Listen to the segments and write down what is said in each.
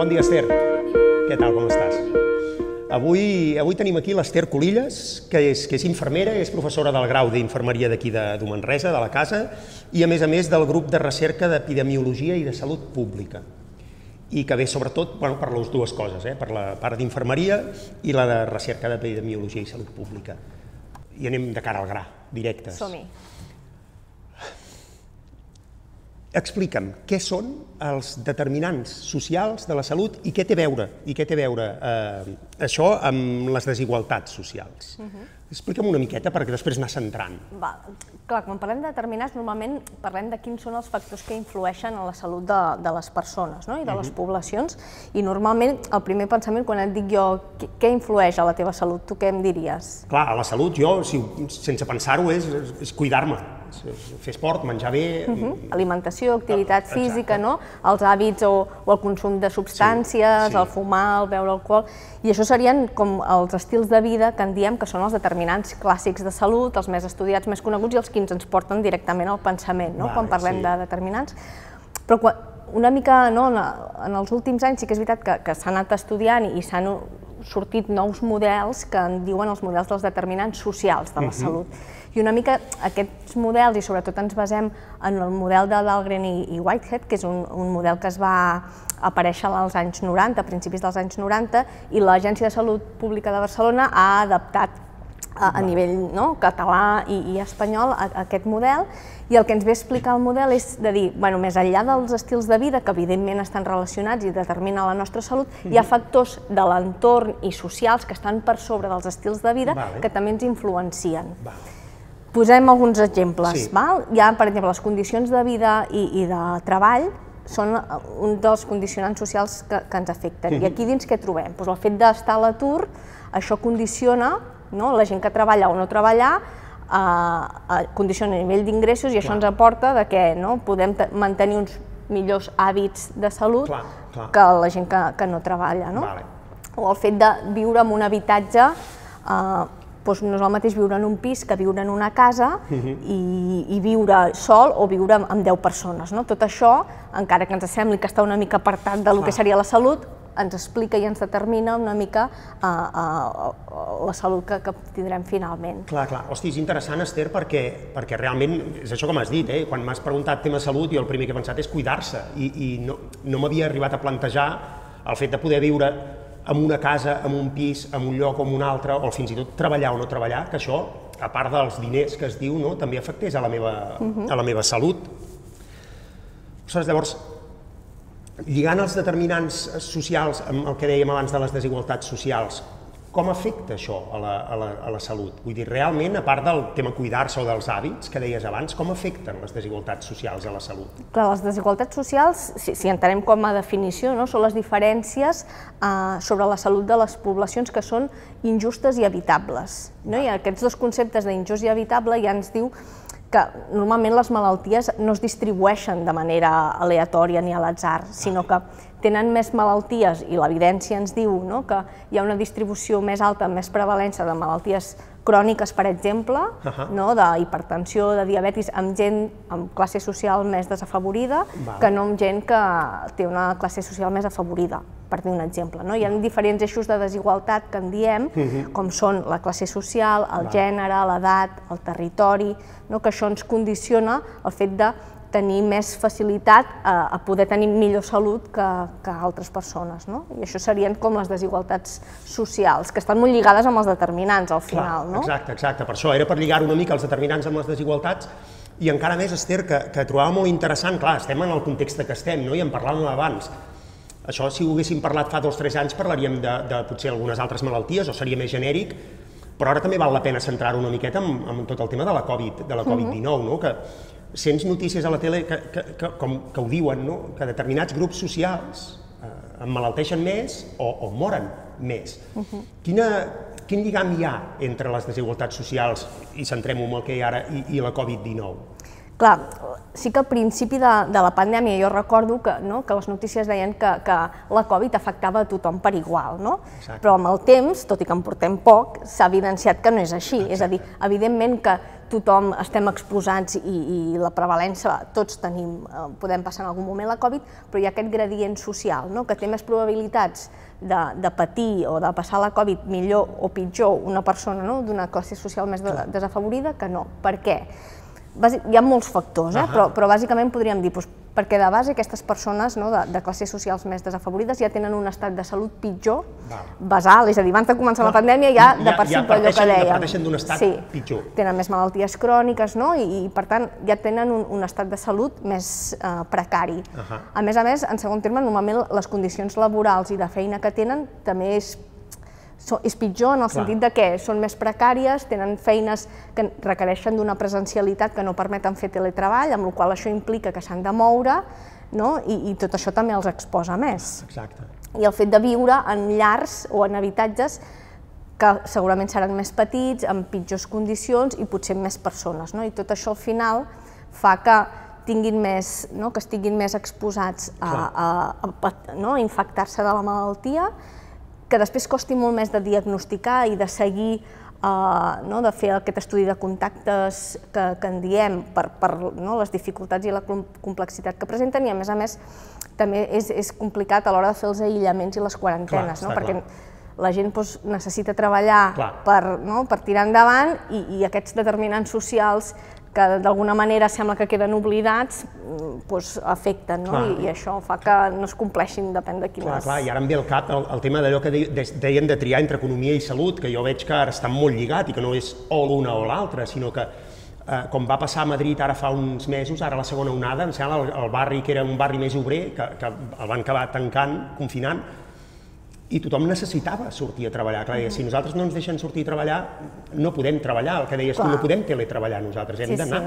Bon dia, Esther. Què tal, com estàs? Avui tenim aquí l'Esther Colillas, que és infermera, és professora del grau d'Infermeria d'aquí de Manresa, de la casa, i a més del grup de recerca d'Epidemiologia i de Salut Pública, i que ve sobretot per les dues coses, per la part d'infermeria i la de recerca d'Epidemiologia i Salut Pública. I anem de cara al gra, directes. Som-hi. Explica'm què són els determinants socials de la salut i què té a veure això amb les desigualtats socials. Explica'm una miqueta perquè després anar centrant. Clar, quan parlem de determinants, normalment parlem de quins són els factors que influeixen en la salut de les persones i de les poblacions, i normalment el primer pensament, quan et dic jo què influeix a la teva salut, tu què em diries? Clar, a la salut jo, sense pensar-ho, és cuidar-me, fer esport, menjar bé... Alimentació, activitat física, els hàbits o el consum de substàncies, el fumar, el beure alcohol... I això serien com els estils de vida que en diem que són els determinants clàssics de salut, els més estudiats, més coneguts i els que ens porten directament al pensament, quan parlem de determinants. Però una mica en els últims anys sí que és veritat que s'ha anat estudiant i s'han sortit nous models que en diuen els models dels determinants socials de la salut. I una mica aquests models, i sobretot ens basem en el model de Dahlgren i Whitehead, que és un model que es va aparèixer als anys 90, a principis dels anys 90, i l'Agència de Salut Pública de Barcelona ha adaptat a nivell català i espanyol aquest model, i el que ens ve a explicar el model és de dir, més enllà dels estils de vida, que evidentment estan relacionats i determinen la nostra salut, hi ha factors de l'entorn i socials que estan per sobre dels estils de vida que també ens influencien. Posem alguns exemples. Hi ha, per exemple, les condicions de vida i de treball són un dels condicionants socials que ens afecten. I aquí dins què trobem? El fet d'estar a l'atur, això condiciona la gent que treballa o no treballar, condiciona el nivell d'ingressos, i això ens aporta que podem mantenir uns millors hàbits de salut que la gent que no treballa. O el fet de viure en un habitatge, no és el mateix viure en un pis que viure en una casa i viure sol o viure amb 10 persones. Tot això, encara que ens sembli que està una mica apartat del que seria la salut, ens explica i ens determina una mica la salut que tindrem finalment. Clar. Hosti, és interessant, Esther, perquè realment és això com has dit, quan m'has preguntat tema salut, jo el primer que he pensat és cuidar-se, i no m'havia arribat a plantejar el fet de poder viure en una casa, en un pis, en un lloc o en un altre, o fins i tot treballar o no treballar, que això, a part dels diners que es diu, també afectés a la meva salut. Llavors, lligant els determinants socials amb el que dèiem abans de les desigualtats socials, com afecta això a la salut? Vull dir, realment, a part del tema cuidar-se o dels hàbits que deies abans, com afecten les desigualtats socials a la salut? Clar, les desigualtats socials, si entenem com a definició, són les diferències sobre la salut de les poblacions que són injustes i evitables. I aquests dos conceptes d'injust i evitable ja ens diu que normalment les malalties no es distribueixen de manera aleatòria ni a l'atzar, sinó que tenen més malalties, i l'evidència ens diu que hi ha una distribució més alta, més prevalència de malalties cròniques, per exemple, d'hipertensió, de diabetis, amb gent amb classe social més desafavorida que no amb gent que té una classe social més afavorida, per dir un exemple. Hi ha diferents eixos de desigualtat que en diem, com són la classe social, el gènere, l'edat, el territori, que això ens condiciona el fet de tenir més facilitat a poder tenir millor salut que altres persones. I això serien com les desigualtats socials, que estan molt lligades amb els determinants al final. Exacte. Per això era per lligar una mica els determinants amb les desigualtats, i encara més, Esther, que trobava molt interessant, clar, estem en el context que estem, i en parlàvem abans. Això, si ho haguéssim parlat fa 2 o 3 anys, parlaríem de potser algunes altres malalties, o seria més genèric, però ara també val la pena centrar-ho una miqueta en tot el tema de la Covid-19, que sents notícies a la tele que ho diuen, que determinats grups socials emmalalteixen més o moren més. Quin lligam hi ha entre les desigualtats socials, i centrem-ho en el que hi ha ara, i la Covid-19? Clar, sí que al principi de la pandèmia jo recordo que les notícies deien que la Covid afectava a tothom per igual, però amb el temps, tot i que en portem poc, s'ha evidenciat que no és així. És a dir, evidentment que tothom estem exposats i la prevalença, tots podem passar en algun moment la Covid, però hi ha aquest gradient social, que té més probabilitats de patir o de passar la Covid millor o pitjor una persona d'una classe social més desafavorida que no. Per què? Hi ha molts factors, però bàsicament podríem dir perquè de base aquestes persones de classes socials més desafavorides ja tenen un estat de salut pitjor, basal, és a dir, abans de començar la pandèmia ja de per si per allò que dèiem. Ja parteixen d'un estat pitjor. Tenen més malalties cròniques i per tant ja tenen un estat de salut més precari. A més, en segon terme, normalment les condicions laborals i de feina que tenen també és pitjor en el sentit que són més precàries, tenen feines que requereixen d'una presencialitat que no permeten fer teletreball, amb la qual cosa això implica que s'han de moure i tot això també els exposa més. I el fet de viure en llars o en habitatges que segurament seran més petits, amb pitjors condicions i potser amb més persones. I tot això al final fa que estiguin més exposats a infectar-se de la malaltia, que després costi molt més de diagnosticar i de seguir, de fer aquest estudi de contactes que en diem per les dificultats i la complexitat que presenten i, a més, també és complicat a l'hora de fer els aïllaments i les quarantenes, perquè la gent necessita treballar per tirar endavant i aquests determinants socials que d'alguna manera sembla que queden oblidats, afecten, i això fa que no es compleixin, depèn de quines... Clar, i ara em ve al cap el tema d'allò que deien de triar entre economia i salut, que jo veig que ara estan molt lligat i que no és o l'una o l'altra, sinó que, com va passar a Madrid ara fa uns mesos, ara la segona onada, em sembla el barri que era un barri més obrer, que el van acabar tancant, confinant, i tothom necessitava sortir a treballar. Clar, si nosaltres no ens deixen sortir a treballar, no podem treballar, el que deies tu, no podem teletreballar nosaltres, hem d'anar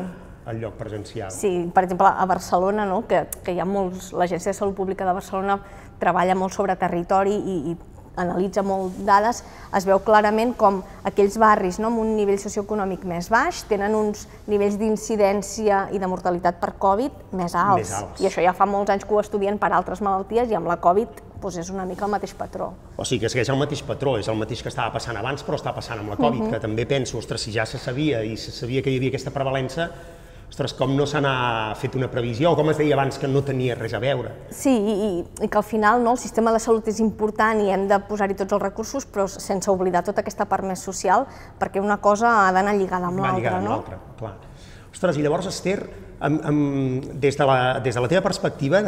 al lloc presencial. Sí, per exemple, a Barcelona, que hi ha molts, l'Agència de Salut Pública de Barcelona treballa molt sobre territori i analitza molt dades, es veu clarament com aquells barris amb un nivell socioeconòmic més baix tenen uns nivells d'incidència i de mortalitat per Covid més alts. I això ja fa molts anys que ho estudien per altres malalties i amb la Covid és una mica el mateix patró. O sigui que és el mateix patró, és el mateix que estava passant abans, però està passant amb la Covid, que també penso, ostres, si ja se sabia i se sabia que hi havia aquesta prevalença, ostres, com no se n'ha fet una previsió, o com es deia abans, que no tenia res a veure. Sí, i que al final el sistema de salut és important i hem de posar-hi tots els recursos, però sense oblidar tota aquesta part més social, perquè una cosa ha d'anar lligada amb l'altra. Va lligada amb l'altra, clar. Ostres, i llavors, Esther, des de la teva perspectiva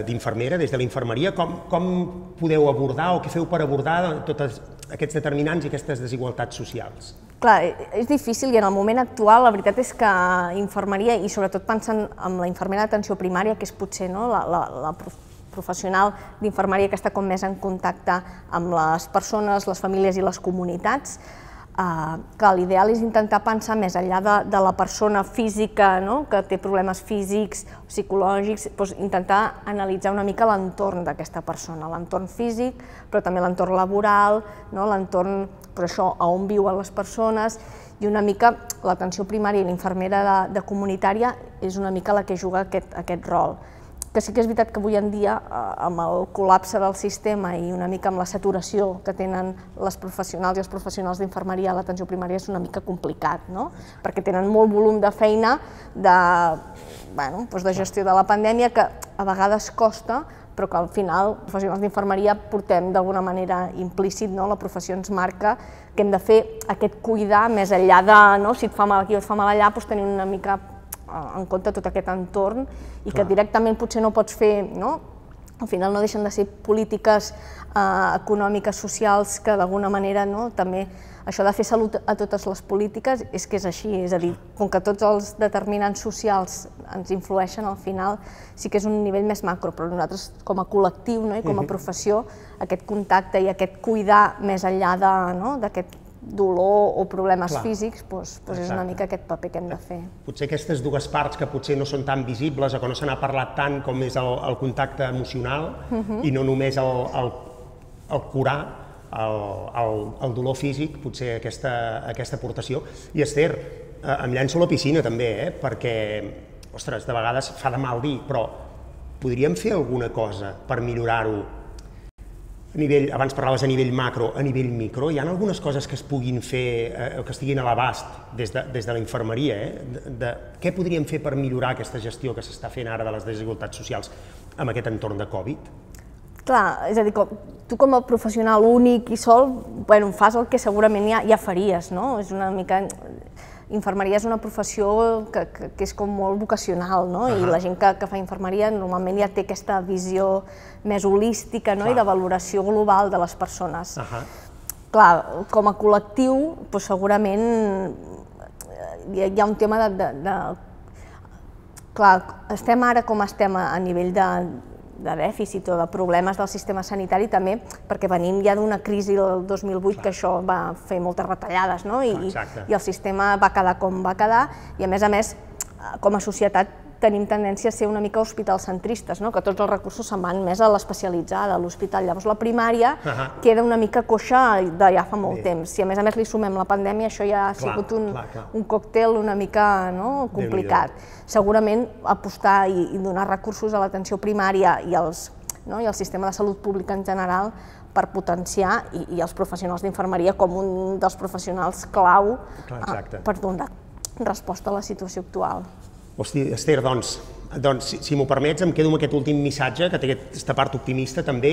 d'infermera, des de la infermeria, com podeu abordar o què feu per abordar tots aquests determinants i aquestes desigualtats socials? Clar, és difícil i en el moment actual la veritat és que infermeria, i sobretot pensant en la infermera d'atenció primària, que és potser la professional d'infermeria que està com més en contacte amb les persones, les famílies i les comunitats, que l'ideal és intentar pensar més enllà de la persona física que té problemes físics o psicològics, intentar analitzar una mica l'entorn d'aquesta persona, l'entorn físic, però també l'entorn laboral, l'entorn, per això, on viuen les persones, i una mica l'atenció primària i l'infermera de comunitària és una mica la que juga aquest rol. Que sí que és veritat que avui en dia, amb el col·lapse del sistema i una mica amb la saturació que tenen les professionals i els professionals d'infermeria a l'atenció primària és una mica complicat, perquè tenen molt volum de feina de gestió de la pandèmia que a vegades costa, però que al final, professionals d'infermeria, portem d'alguna manera implícit, la professió ens marca que hem de fer aquest cuidar més enllà de si et fa mal aquí o et fa mal allà, tenir una mica en compte tot aquest entorn i que directament potser no pots fer, al final no deixen de ser polítiques econòmiques, socials, que d'alguna manera també això de fer salut a totes les polítiques és que és així, és a dir, com que tots els determinants socials ens influeixen, al final sí que és un nivell més macro, però nosaltres com a col·lectiu i com a professió aquest contacte i aquest cuidar més enllà d'aquest dolor o problemes físics, és una mica aquest paper que hem de fer. Potser aquestes dues parts que potser no són tan visibles o que no se n'ha parlat tant com és el contacte emocional i no només el curar el dolor físic, potser aquesta aportació. I Esther, em llenço a la piscina també, perquè, ostres, de vegades fa de mal dir, però podríem fer alguna cosa per millorar-ho abans parlaves a nivell macro, a nivell micro, hi ha algunes coses que es puguin fer, que estiguin a l'abast des de la infermeria, què podríem fer per millorar aquesta gestió que s'està fent ara de les desigualtats socials amb aquest entorn de Covid? Clar, és a dir, tu com a professional únic i sol, fas el que segurament ja faries, no? És una mica... Infermeria és una professió que és com molt vocacional, no? I la gent que fa infermeria normalment ja té aquesta visió més holística i de valoració global de les persones. Clar, com a col·lectiu, segurament hi ha un tema de... Clar, estem ara com estem a nivell de dèficit o de problemes del sistema sanitari també perquè venim ja d'una crisi del 2008 que això va fer moltes retallades i el sistema va quedar com va quedar i a més, com a societat tenim tendència a ser una mica hospitalcentristes, que tots els recursos se'n van més a l'especialitzada, a l'hospital. Llavors la primària queda una mica coixa de ja fa molt temps. Si a més li sumem la pandèmia, això ja ha sigut un còctel una mica complicat. Segurament apostar i donar recursos a l'atenció primària i al sistema de salut pública en general per potenciar i els professionals d'infermeria com un dels professionals clau per donar resposta a la situació actual. Hosti, Esther, doncs, si m'ho permets, em quedo amb aquest últim missatge, que té aquesta part optimista també,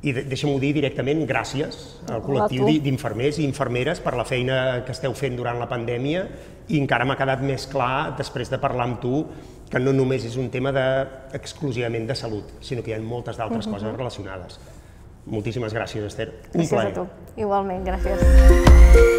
i deixa'm-ho dir directament, gràcies al col·lectiu d'infermers i infermeres per la feina que esteu fent durant la pandèmia, i encara m'ha quedat més clar, després de parlar amb tu, que no només és un tema exclusivament de salut, sinó que hi ha moltes d'altres coses relacionades. Moltíssimes gràcies, Esther. Un plaer. Gràcies a tu. Igualment, gràcies.